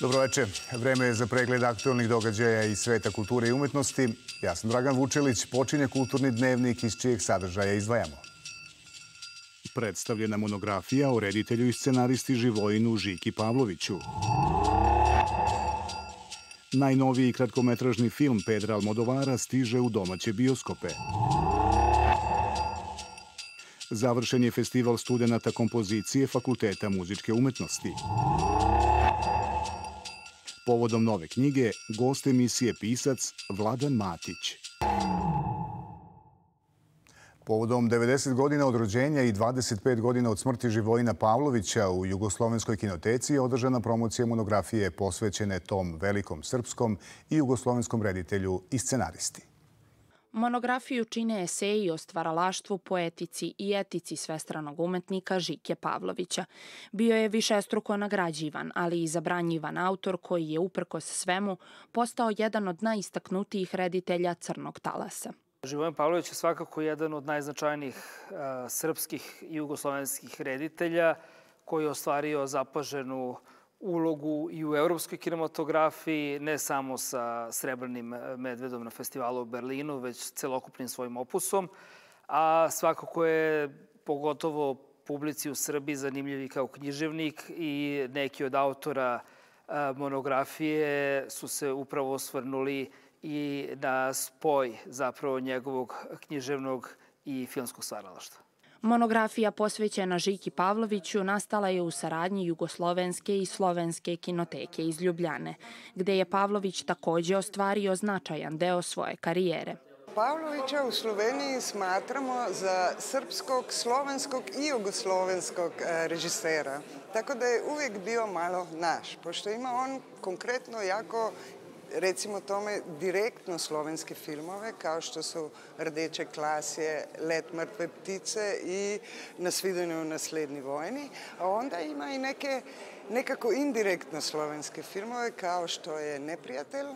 Dobroveče. Vreme je za pregled aktualnih događaja iz sveta kulture i umetnosti. Ja sam Dragan Vučelić. Počinje kulturni dnevnik iz čijeg sadržaja izdvajamo. Predstavljena monografija o reditelju i scenaristi Živojinu Žiki Pavloviću. Najnoviji kratkometražni film Pedra Almodovara stiže u domaće bioskope. Završen je festival studenata kompozicije Fakulteta muzičke umetnosti. Povodom nove knjige, gost emisije pisac Vladan Matić. Povodom 90 godina od rođenja i 25 godina od smrti Živojina Pavlovića u Jugoslovenskoj kinoteci je održana promocija monografije posvećene tom velikom srpskom i jugoslovenskom reditelju i scenaristi. Monografiju čine eseji o stvaralaštvu, poetici i etici svestranog umetnika Žike Pavlovića. Bio je višestruko nagrađivan, ali i zabranjivan autor koji je uprkos svemu postao jedan od najistaknutijih reditelja crnog talasa. Živojin Pavlović je svakako jedan od najznačajnijih srpskih i jugoslovenskih reditelja koji je ostvario zapaženu ulogu i u evropskoj kinematografiji, ne samo sa Srebrnim medvedom na festivalu u Berlinu, već celokupnim svojim opusom. A svakako je pogotovo publici u Srbiji zanimljiv i kao književnik i neki od autora monografije su se upravo osvrnuli i na spoj zapravo njegovog književnog i filmskog stvaralaštva. Monografija posvećena Žiki Pavloviću nastala je u saradnji Jugoslovenske i Slovenske kinoteke iz Ljubljane, gde je Pavlović takođe ostvario značajan deo svoje karijere. Pavlovića u Sloveniji smatramo za srpskog, slovenskog i jugoslovenskog režisera. Tako da je uvijek bio malo naš, pošto ima on konkretno jako, recimo tome, direktno slovenske filmove, kao što su Rdeče klasje, Let mrtve ptice i Na svidanju u naslednji vojni. A onda ima i nekako indirektno slovenske filmove, kao što je Neprijatelj.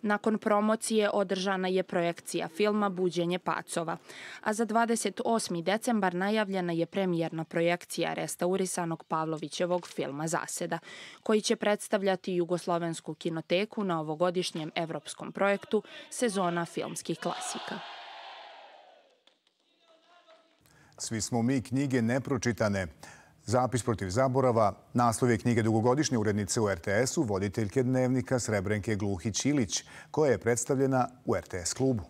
Nakon promocije održana je projekcija filma Buđenje pacova, a za 28. decembar najavljena je premijerna projekcija restaurisanog Pavlovićevog filma Zaseda, koji će predstavljati Jugoslovensku kinoteku na ovogodišnjem evropskom projektu Sezona filmskih klasika. Svi smo mi knjige nepročitane. Zapis protiv zaborava, naslov je knjige dugogodišnje urednice u RTS-u, voditeljke dnevnika Srebrenke Gluhić-Ilić, koja je predstavljena u RTS klubu.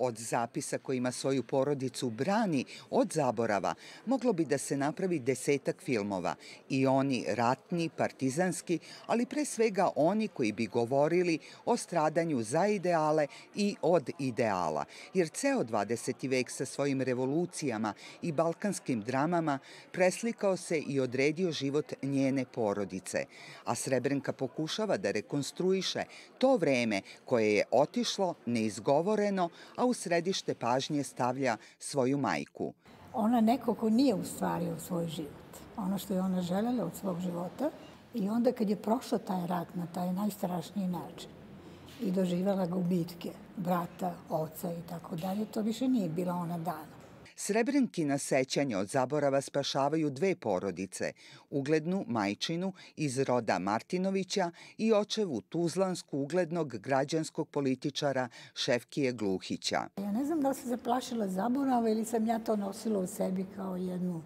Od zapisa kojima svoju porodicu brani od zaborava moglo bi da se napravi 10-ak filmova. I oni ratni, partizanski, ali pre svega oni koji bi govorili o stradanju za ideale i od ideala. Jer ceo 20. vek sa svojim revolucijama i balkanskim dramama preslikao se i odredio život njene porodice. A Srebrenka pokušava da rekonstruiše to vreme koje je otišlo neizgovoreno, a u središte pažnje stavlja svoju majku. Ona neko ko nije ustvario svoj život, ono što je ona želela od svog života, i onda kad je prošla taj rat na taj najstrašniji način i doživjela gubitke brata, oca i tako dalje, to više nije bila ona dana. Srebrenkina sećanja od zaborava spašavaju dve porodice, uglednu majčinu iz roda Martinovića i očevu tuzlansku uglednog građanskog političara Šefkije Gluhića. Ja ne znam da li se zaplašila zaborava ili sam ja to nosila u sebi kao jednu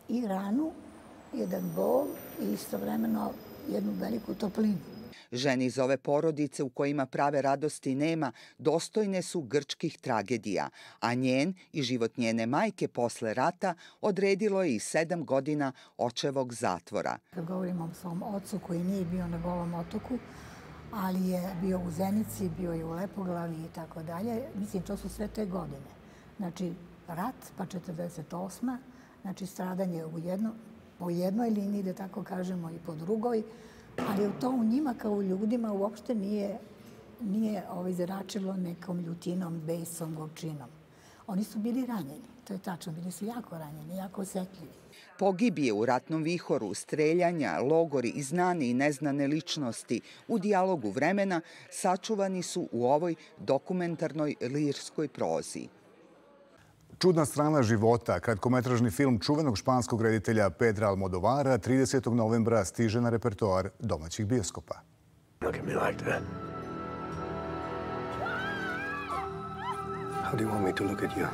i ranu, jedan bol i istovremeno jednu veliku toplinu. Žene iz ove porodice u kojima prave radosti nema dostojne su grčkih tragedija, a njen i život njene majke posle rata odredilo je i 7 godina očevog zatvora. Kad govorimo o svom ocu koji nije bio na Golom otoku, ali je bio u Zenici, bio je u Lepoglavi i tako dalje, mislim, to su sve te godine. Znači, rat, pa 48. Znači, stradanje po jednoj liniji, da tako kažemo, i po drugoj, ali to u njima kao u ljudima uopšte nije zračilo nekom ljutinom, besom, gorčinom. Oni su bili ranjeni, to je tačno, bili su jako ranjeni, jako osetljivi. Pogibije u ratnom vihoru, streljanja, logori i znane i neznane ličnosti u dijalogu vremena sačuvani su u ovoj dokumentarnoj lirskoj prozi. Čudna strana života, kratkometražni film čuvenog španskog reditelja Pedra Almodovara 30. novembra stiže na repertoar domaćih bioskopa. Look at me like that. How do you want me to look at you?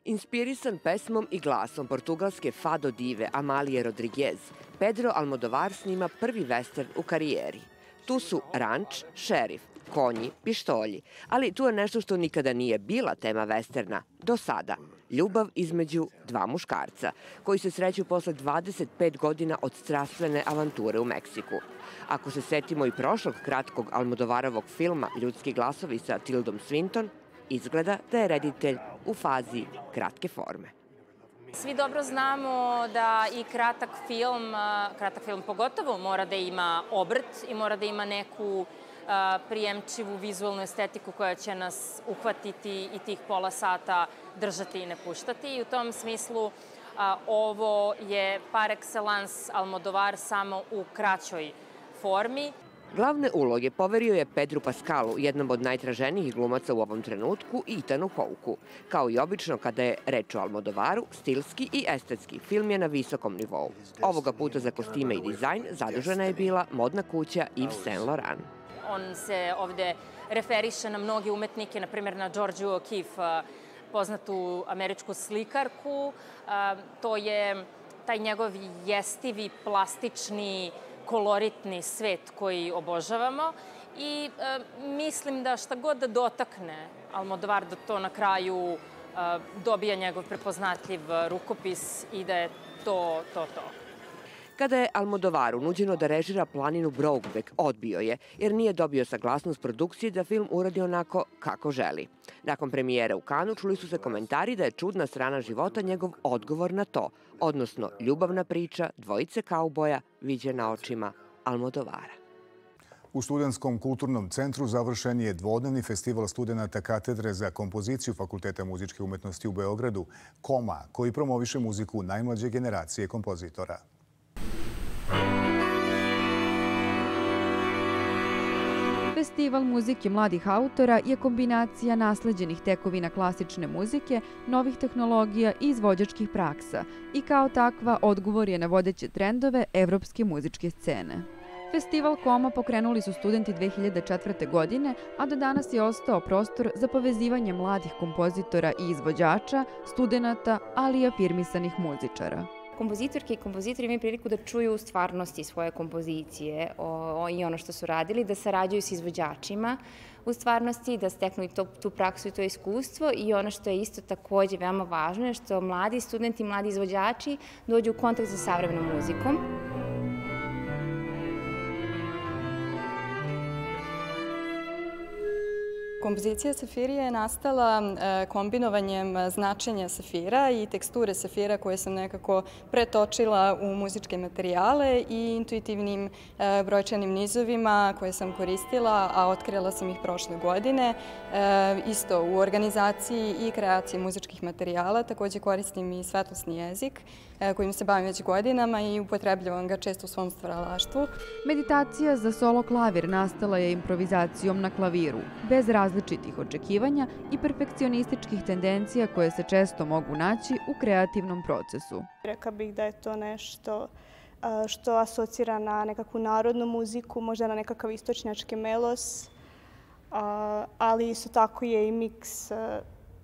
Inspirisan pesmom i glasom portugalske fado dive Amalije Rodriguez, Pedro Almodovar snima prvi western u karijeri. Tu su ranč, šerif, konji, pištolji, ali tu je nešto što nikada nije bila tema westerna do sada. Ljubav između dva muškarca, koji se sreću posle 25 godina od strastvene avanture u Meksiku. Ako se setimo i prošlog kratkog Almodovarovog filma Ljudski glasovi sa Tildom Swinton, izgleda da je reditelj u fazi kratke forme. Svi dobro znamo da i kratak film pogotovo mora da ima obrt i mora da ima neku prijemčivu vizualnu estetiku koja će nas uhvatiti i tih pola sata držati i ne puštati. I u tom smislu ovo je par excellence Almodovar samo u kraćoj formi. Glavne uloge poverio je Pedru Pascalu, jednom od najtraženijih glumaca u ovom trenutku, i Ethanu Hawkeu. Kao i obično kada je reč o Almodovaru, stilski i estetski film je na visokom nivou. Ovoga puta za kostime i dizajn zadužena je bila modna kuća Yves Saint Laurent. On se ovde referiše na mnoge umetnike, na primjer na Georgiju O'Keeffe, poznatu američku slikarku. To je taj njegov jestivi, plastični, koloritni svet koji obožavamo i mislim da šta god da dotakne Almodovar, da to na kraju dobija njegov prepoznatljiv rukopis i da je to. Kada je Almodovaru nuđeno da režira planinu Brokeback, odbio je, jer nije dobio saglasnost produkcije da film uradi onako kako želi. Nakon premijere u Kanu čuli su se komentari da je čudna strana života njegov odgovor na to, odnosno ljubavna priča dvojice kauboja viđena očima Almodovara. U Studentskom kulturnom centru završen je dvodnevni festival studenata katedre za kompoziciju Fakulteta muzičke umetnosti u Beogradu, KOMA, koji promoviše muziku najmlađe generacije kompozitora. Festival muzike mladih autora je kombinacija nasleđenih tekovina klasične muzike, novih tehnologija i izvođačkih praksa i kao takva odgovor je na vodeće trendove evropske muzičke scene. Festival KOMA pokrenuli su studenti 2004. godine, a do danas je ostao prostor za povezivanje mladih kompozitora i izvođača, studenata, ali i afirmisanih muzičara. Kompozitorke i kompozitori imaju priliku da čuju u stvarnosti svoje kompozicije i ono što su radili, da sarađuju s izvođačima u stvarnosti, da steknu i tu praksu i to iskustvo i ono što je isto takođe veoma važno je što mladi studenti, mladi izvođači dođu u kontakt sa savremenom muzikom. Kompozicija Safirije je nastala kombinovanjem značenja safira i teksture safira koje sam nekako pretočila u muzičke materijale i intuitivnim brojčanim nizovima koje sam koristila, a otkrila sam ih prošle godine. Isto u organizaciji i kreaciji muzičkih materijala takođe koristim i svetlosni jezik kojim se bavim već godinama i upotrebljavam ga često u svom stvaralaštvu. Meditacija za solo klavir nastala je improvizacijom na klaviru, bez različitih očekivanja i perfekcionističkih tendencija koje se često mogu naći u kreativnom procesu. Rekla bih da je to nešto što asocira na nekakvu narodnu muziku, možda na nekakav istočnjački melos, ali isto tako je i miks,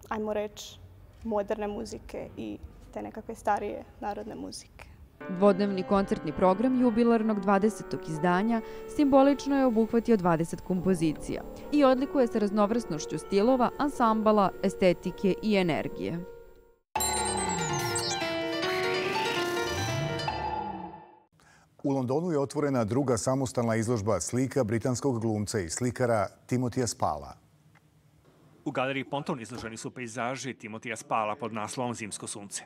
ajmo reći, moderne muzike i te nekakve starije narodne muzike. Dvodnevni koncertni program jubilarnog 20. izdanja simbolično je obuhvatio 20 kompozicija i odlikuje se raznovrsnošću stilova, ansambala, estetike i energije. U Londonu je otvorena druga samostalna izložba slika britanskog glumca i slikara Timothea Spala. U galeriji Ponton izloženi su pejzaži Timothea Spala pod naslovom Zimsko sunce.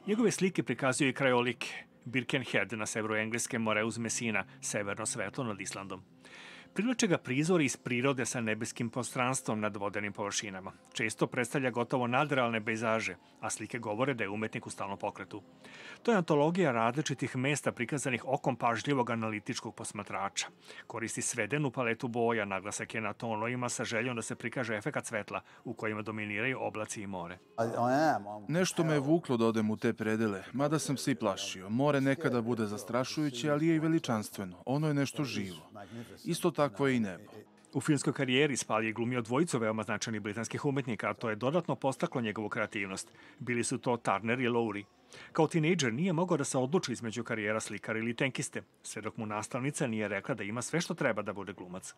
Njegove slike prikazuju i krajolike. Birkenhead na severu Engleske, more uz Messina, severno svetlo nad Islandom. Privlače ga prizori iz prirode sa nebeskim prostranstvom nad vodenim površinama. Često predstavlja gotovo nadrealne pejzaže, a slike govore da je umetnik u stalnom pokretu. To je antologija različitih mesta prikazanih okom pažljivog analitičkog posmatrača. Koristi svedenu paletu boja, naglasak je na tonovima sa željom da se prikaže efekat svetla u kojima dominiraju oblaci i more. Nešto me je vuklo da odem u te predele, mada sam se i plašio. More nekada bude zastrašujuće, ali je i veličanstveno. Ono je nešto živo. Isto takvo je i nebo. U filmskoj karijeri Spall je glumio dvojicu veoma značajnih britanskih umetnika, a to je dodatno podstaklo njegovu kreativnost. Bili su to Turner i Lowry. Kao tinejdžer nije mogao da se odluči između karijera slikara ili tenkiste, sve dok mu nastavnica nije rekla da ima sve što treba da bude glumac.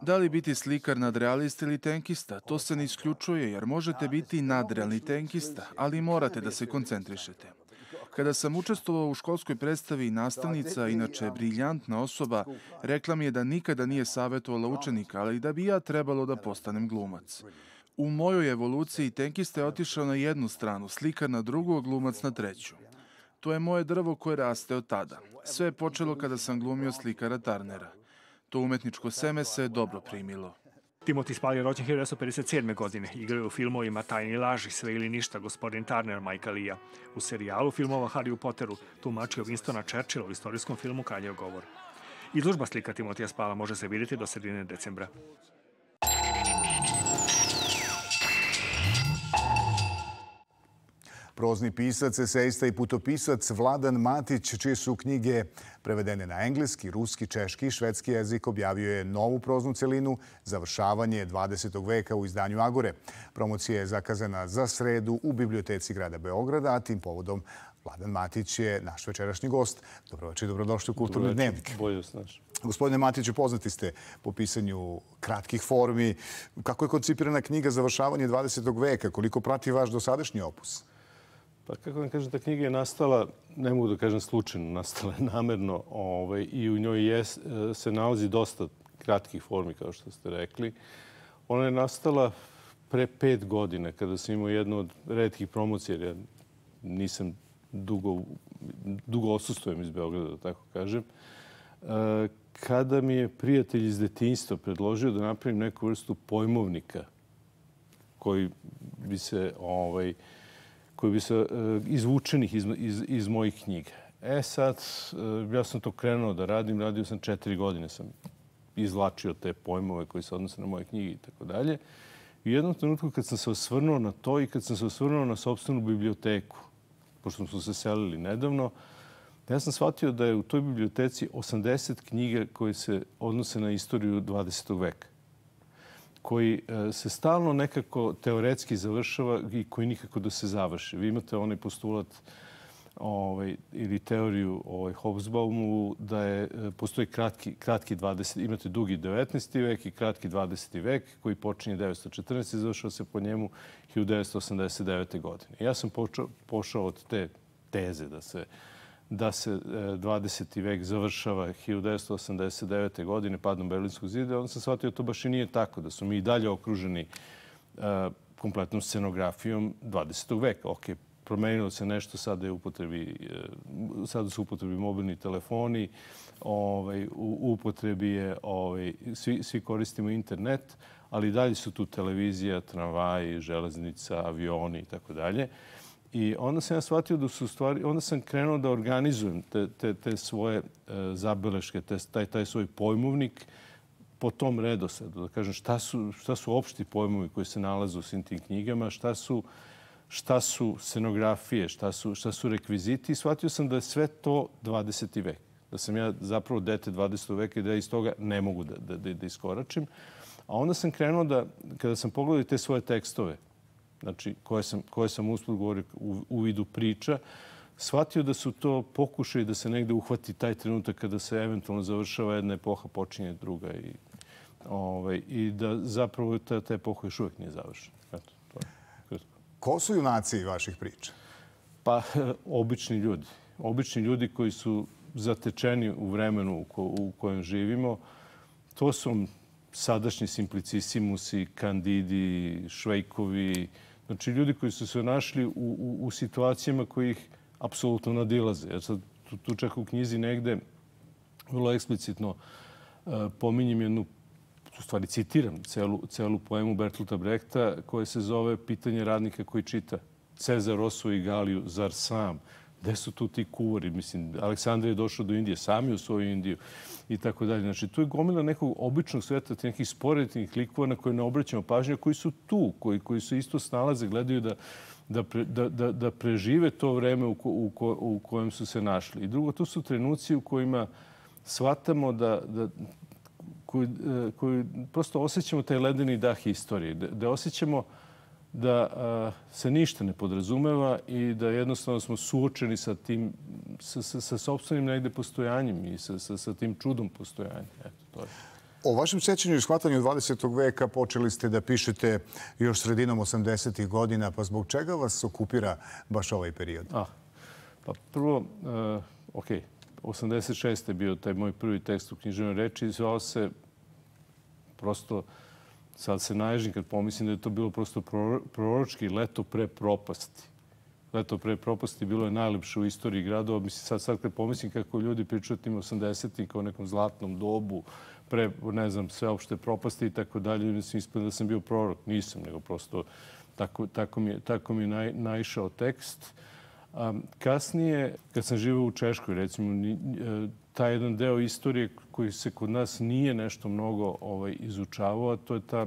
Da li biti slikar nadrealista ili tenkista, to se ne isključuje, jer možete biti nadrealni tenkista, ali morate da se koncentrišete. Kada sam učestvovao u školskoj predstavi, nastavnica, inače briljantna osoba, rekla mi je da nikada nije savjetovala učenika, ali da bi ja trebalo da postanem glumac. U mojoj evoluciji tenkista je otišao na jednu stranu, slikar na drugu, glumac na treću. To je moje drvo koje raste od tada. Sve je počelo kada sam glumio slikara Turnera. To umetničko seme se dobro primilo. Timothy Spall je rođen 1957. godine. Igrao je u filmovima Tajni laži, Sve ili ništa, Gospodin Turner, Majka Lija. U serijalu filmova Harry Potteru tumačio Winstona Churchilla u istorijskom filmu Kraljev govor. Izložba slika Timothija Spalla može se vidjeti do sredine decembra. Prozni pisac, esejista i putopisac Vladan Matić, čije su knjige prevedene na engleski, ruski, češki i švedski jezik, objavio je novu proznu celinu Završavanje 20. veka u izdanju Agore. Promocija je zakazana za sredu u Biblioteci grada Beograda, a tim povodom Vladan Matić je naš večerašnji gost. Dobroveče i dobrodošli u Kulturni dnevnik. Bolje snaš. Gospodine Matiću, poznati ste po pisanju kratkih formi. Kako je koncipirana knjiga Završavanje 20. veka? Koliko prati vaš dosadašnji opus? Pa kako vam kažem, ta knjiga je nastala, ne mogu da kažem slučajno, nastala je namerno i u njoj se nalazi dosta kratkih formi, kao što ste rekli. Ona je nastala pre 5 godina, kada sam imao jednu od retkih promocija, jer ja nisam dugo odsustvujem iz Beograda, da tako kažem, kada mi je prijatelj iz detinjstva predložio da napravim neku vrstu pojmovnika koji bi se izvučenih iz mojih knjiga. Sad, ja sam to krenuo da radim. Radio sam 4 godine. Sam izvlačio te pojmove koji se odnose na moje knjige i tako dalje. I u jednom trenutku kad sam se osvrnuo na to i kad sam se osvrnuo na sopstvenu biblioteku, pošto smo se selili nedavno, ja sam shvatio da je u toj biblioteci 80 knjiga koje se odnose na istoriju 20. veka, koji se stalno nekako teoretski završava i koji nikako da se završi. Vi imate onaj postulat ili teoriju Hobsbawmu da postoji kratki 20. Imate dugi 19. vek i kratki 20. vek koji počinje 1914. i završava se po njemu 1989. godine. Ja sam pošao od te teze da se 20. vek završava 1989. godine padom Berlinskog zida. Onda sam shvatio da to baš i nije tako, da su mi i dalje okruženi kompletnom scenografijom 20. veka. Ok, promenilo se nešto, sada su u upotrebi mobilni telefoni, u upotrebi je, svi koristimo internet, ali dalje su tu televizija, tramvaji, železnica, avioni i tako dalje. I onda sam ja shvatio da su stvari, onda sam krenuo da organizujem te svoje zabeleške, taj svoj pojmovnik po tom redosledu. Da kažem šta su opšti pojmovi koji se nalaze u svim tim knjigama, šta su scenografije, šta su rekviziti. I shvatio sam da je sve to 20. vek. Da sam ja zapravo dete 20. veka i da iz toga ne mogu da iskoračim. A onda sam krenuo da, kada sam pogledao te svoje tekstove, znači koje sam usput govorio u vidu priča, shvatio da su to pokušaj da se negde uhvati taj trenutak kada se eventualno završava jedna epoha, počinje druga i da zapravo ta epoha još uvijek nije završena. Ko su junaci vaših priča? Pa, obični ljudi. Obični ljudi koji su zatečeni u vremenu u kojem živimo. To su sadašnji Simplicissimusi, Kandidi, Švejkovi. Znači, ljudi koji su se našli u situacijama koji ih apsolutno nadilaze. Tu čak u knjizi negde vrlo eksplicitno pominjem jednu, u stvari citiram celu poemu Bertolta Brehta koja se zove Pitanje radnika koji čita. Cezar osvoji Galiju, zar sam? Gde su tu ti kuvari? Mislim, Aleksandar je došao do Indije, sam je u svoju Indiju i tako dalje. Znači, tu je gomila nekog običnog sveta, nekih sporednih likova na koje ne obraćamo pažnje, koji su tu, koji su isto snalaze, gledaju da prežive to vreme u kojem su se našli. I drugo, to su trenuci u kojima shvatamo koji prosto osjećamo taj ledeni dah istorije, da osjećamo da se ništa ne podrazumeva i da jednostavno smo suočeni sa tim, sa sopstvenim negde postojanjem i sa tim čudom postojanja. Eto, to je. O vašem sećanju i shvatanju 20. veka počeli ste da pišete još sredinom 80. godina, pa zbog čega vas okupira baš ovaj period? Pa prvo, 86. je bio taj moj prvi tekst u književnoj reči i zvao se prosto, sad se naježim kad pomislim da je to bilo prosto proročki leto pre propasti. Leto pre propasti bilo je najlepše u istoriji gradova. Mislim, sad kad pomislim kako ljudi pričaju o tim 80-im kao nekom zlatnom dobu, pre, ne znam, sveopšte propasti i tako dalje, mislim, ispada da sam bio prorok. Nisam, nego prosto tako mi je naišao tekst. Kasnije, kad sam živeo u Češkoj, recimo, taj jedan deo istorije koji se kod nas nije nešto mnogo izučavao, a to je ta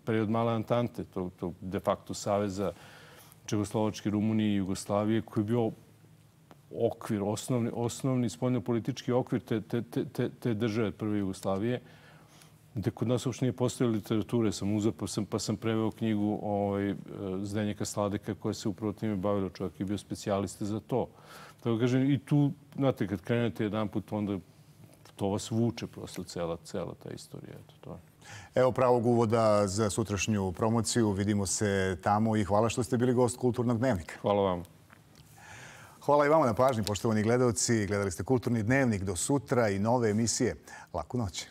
period Male Antante, to de facto saveza Čehoslovačke, Rumunije i Jugoslavije, koji je bio okvir, osnovni spoljnopolitički okvir te države prve Jugoslavije, gde kod nas uopšte nije postojala literature. Sam uzeo pa sam preveo knjigu Zdenjaka Sladeka koja se upravo time bavila. Čovjek je bio specijalista za to. Tako kažem, i tu, znate, kad krenete jedan put, onda to vas vuče prosto cela ta istorija. Eto, to je. Evo pravog uvoda za sutrašnju promociju. Vidimo se tamo i hvala što ste bili gost Kulturnog dnevnika. Hvala vam. Hvala i vama na pažnji, poštovani gledaoci. Gledali ste Kulturni dnevnik. Do sutra i nove emisije. Laku noć.